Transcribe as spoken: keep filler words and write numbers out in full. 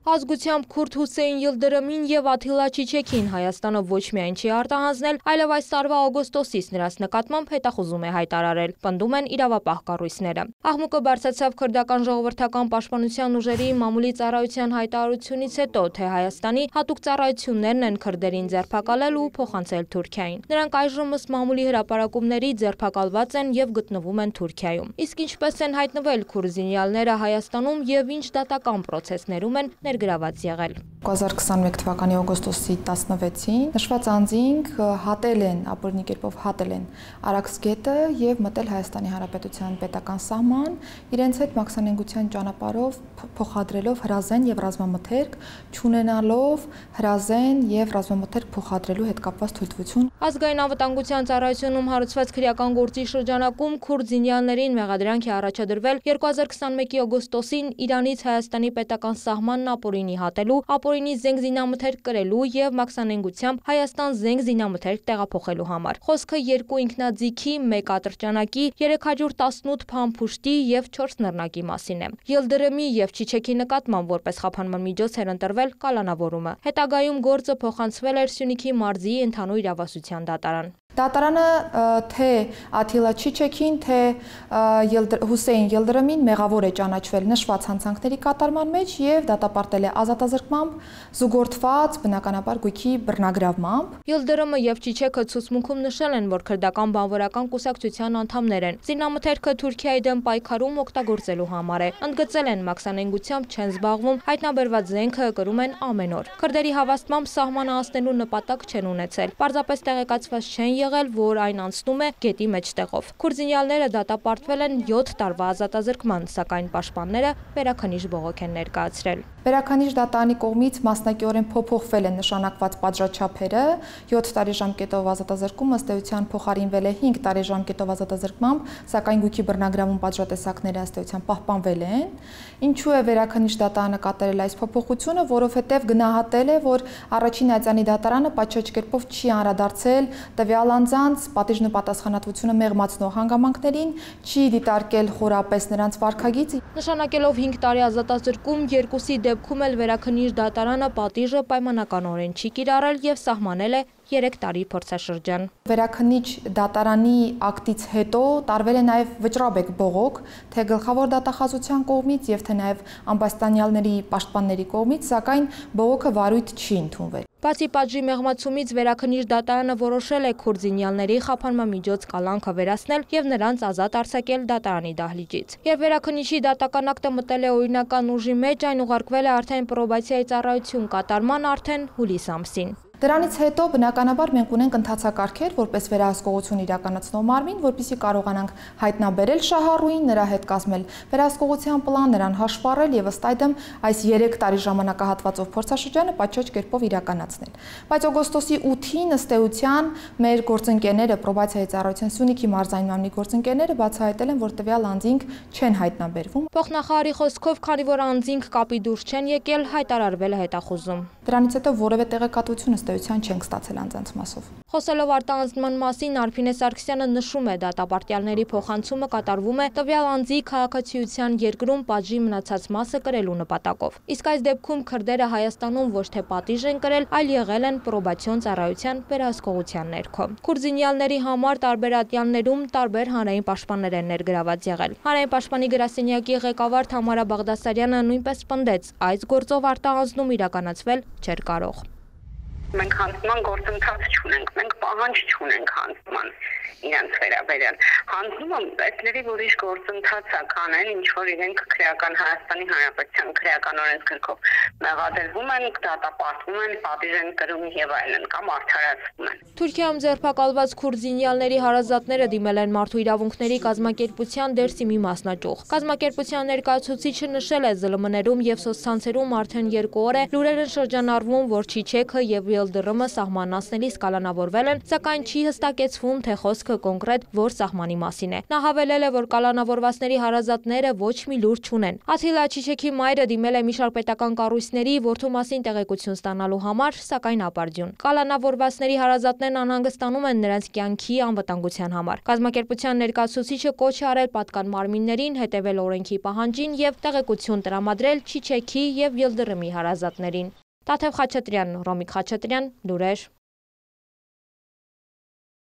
Ազգությամբ քուրդ Հուսեյն Յիլդրըմին և Աթիլա Չիչեքին Հայաստանը ոչ միայն չի արտահանձնել, այլև այս տարվա օգոստոսից նրանց նկատմամբ հետախուզում է հայտարարել, պնդում են իրավապահ կառույցները։ Աղմուկը բարձրացավ քրդական ժողովրդական պաշտպանության ուժերի մամուլի ծառայության հայտարարությունից հետո, թե Հայաստանի հատուկ ծառայություններն են քրդերին ձերբակալել ու փոխանցել Թուրքիային։ Նրանք այժմ ըստ մամուլի հրապարակումների ձերբակալված են և գտնվում են Թուրքիայում։ Իսկ ինչպես են հայտնվել քուրդ զինյալները Հայաստանում և ինչ դատական պրոցեսներում են ներգրաված եղել։ երկու հազար քսաներորդ թվականի օգոստոսի տասնվեցին նշված անձինք հատել են, ապօրինի կերպով հատել են Արաքս գետը և մտել Հայաստանի Հանրապետության պետական սահման, իրենց հետ մաքսանենգության ճանապարհով փոխադրելով հրազեն և ռազմամթերք, չունենալով հրազեն և ռազմամթերք փոխադրելու հետ կապված թույլտվություն։ Ազգային անվտանգության ծառայությունում հարուցված քրեական գործի շրջանակում քուրդ զինյալներին մեղադրանք է առաջադրվել երկու հազար քսանմեկի օգոստոսին Իրանից Հայաստանի պետական սահմանն ապօրինի հատելու, ապօրինի զենք զինամթերք կրելու և մաքսանենգությամբ Հայաստան զենք զինամթերք տեղափոխելու համար։ Խոսքը երկու ինքնաձիգի, մեկ ատրճանակի, երեք հարյուր տասնութ փամփուշտի և չորս նռնակի մասին է։ Յիլդրըմի և Չիչեքի նկատմամբ որպես խափանման միջոց էր ընտրվել կալանավորումը։ Հետագայում գործը փոխանցվել էր Սյունիքի մարզի ընդհանուր իրավասության դատարան։ Դատարանը թե Աթիլա Չիչեքին, թե Հուսեյն Յիլդրըմին մեղավոր է ճանաչվել նշված հանցանքների կատարման մեջ և դատապարտել է ազատազրկմամբ, զուգորդված բնականաբար գույքի բռնագրավմամբ։ Յիլդրըմը և Չիչեքը ցուցմունքում նշել են, որ քրդական բանվորական կուսակցության անդամներ են։ Զինամթերքը Թուրքիայի դեմ պայքարում օգտագործելու համար է։ Ընդգծել են մաքսանենգությամբ չեն զբաղվում, հայտնաբերված զենքը կրում են ամեն օր։ Քրդերի հավաստմամբ սահմանը անցնելու նպատակ չեն ունեցել։ Պարզապես տեղեկացված չեն եղել, որ այն անցնում է գետի մեջտեղով։ Քուրդ զինյալները դատապարտվել են յոթ տարվա ազատազրկման, սակայն պաշտպանները վերաքննիչ բողոք են ներկայացրել։ Վերաքննիչ դատարանի կողմից մասնակիորեն փոփոխվել են նշանակված պատժաչափերը, յոթ տարի ժամկետով ազատազրկումը ըստ էության փոխարինվել է հինգ տարի ժամկետով ազատազրկմամբ, սակայն գույքի բռնագրավում պատժատեսակները ըստ էության պահպանվել են։ Ինչու է վերաքննիչ դատարանը կատարել այս փոփոխությունը, որովհետև գնահատել է, որ առաջին այցանի դատարանը պատշաճ կերպով չի անդրադարձել տվյալ անձանց պատիժն ու պատասխանատվությունը մեղմացնող հանգամանքներին, չի դիտարկել խորապես նրանց վարքագիծը։ Նշանակելով հինգ տարի ազատազրկում, երկուսի դեպքում էլ վերաքննիչ դատարանը պատիժը պայմանականորեն չի կիրառել և սահմանել է երեք տարի փորձաշրջան։ Վերաքննիչ դատարանի ակտից հետո տարվել է նաև վճռաբեկ բողոք, թե գլխավոր դատախազության կողմից և թե նաև ամբաստանյալների պաշտպանների կողմից, սակայն բողոքը վարույթ չի ընդունվել։ Բացի պատժի մեղմացումից վերաքննիչ դատարանը որոշել է քուրդ զինյալների խափանման միջոց կալանքը վերացնել և նրանց ազատ արձակել դատարանի դահլիճից։ Երբ վերաքննիչի դատական ակտը մտել է օրինական ուժի մեջ, այն ուղարկվել է արդեն պրոբացիայի ծառայություն կատարման արդեն հուլիս ամսին։ Դրանից հետո բնականաբար մենք ունենք ընթացակարգեր, որպես վերահսկողություն իրականացնող մարմին, որպեսզի կարողանանք հայտնաբերել շահառուին, նրա հետ կազմել վերահսկողության պլան, նրան հաշվառել եւ ըստ այդմ այս երեք տարի ժամանակահատվածով փորձաշրջանը պատշաճ կերպով իրականացնել։ Բայց օգոստոսի ութին ըստ էության մեր գործընկերները պրոբացիայի ծառայության Սյունիքի մարզային մամլի գործընկերները բացահայտել են, որ տվյալ անձինք չեն հայտնաբերվում։ Փոխնախարարի խոսքով, քանի որ անձինք կապի դուրս չեն եկել, հայտարարվել է հետախուզում։ Դրանից հետո որևէ տեղեկատվություն ըստեյության չենք ստացել անձանց մասով։ Խոսելով արտահանձնման մասին, Արփինե Սարգսյանը նշում է, դատապարտյալների փոխանցումը կատարվում է տվյալ անձի քաղաքացիության երկրում պատժի մնացած մասը կրելու նպատակով։ Իսկ այս դեպքում քրդերը Հայաստանում ոչ թե պատիժ են կրել, այլ եղել են պրոբացիոն ծառայության վերահսկողության ներքո։ Քուրդ զինյալների համար տարբեր ատյաններում տարբեր հանրային պաշտպաններ են ներգրաված եղել։ Հանրային պաշտպանի գրասենյակի ղեկավար Թամարա Բաղդասարյանը նույնպես պնդեց, այս գործով արտահանձնում իրականացվել չէր կարող։ Մենք հանձնման գործընթաց չունենք, մենք պահանջ չունենք հանձնման իրենց վերաբերյալ։ Հանձնումը այդների ուրիշ գործընթաց է կանեն, ինչ որ իրենք քրեական Հայաստանի Հանրապետության քրեական օրենսգրքով մեղադրվում են, դատապարտվում են, պատիժ են կրում եւ այլն կամ արդարացվում են։ Թուրքիայում ձերբակալված քուրդ զինյալների հարազատները դիմել են Մարդու իրավունքների կազմակերպության Դերսիմի մասնաճյուղ։ Կազմակերպության ներկայացուցիչը նշել է ԶԼՄ-ներում եւ սոցցանցերում արդեն երկու օր է լուրեր են շրջանառվում, որ Չիչեքը եւ ելդռումը սահմանացնելիս կալանավորվել են, սակայն չի հստակեցվում, թե խոսքը կոնկրետ որ սահմանի մասին է։ Նա հավելել է, որ կալանավորվածների հարազատները ոչ մի լուր չունեն։ Աթիլա Չիչեքի մայրը դիմել է մի շարք պետական կառույցների որդու մասին տեղեկություն ստանալու համար, սակայն ապարդյուն։ Կալանավորվածների հարազատներն անհանգստանում են նրանց կյանքի անվտանգության համար։ Կազմակերպության ներկայացուցիչը կոչ է արել պատկան մարմիններին հետևել օրենքի պահանջին եւ տեղեկություն տրամադրել Չիչեքի եւ Ելդռմի հարազատներին։ Տաթև Խաչատրյան, Ռոմիկ Խաչատրյան, լուրեր։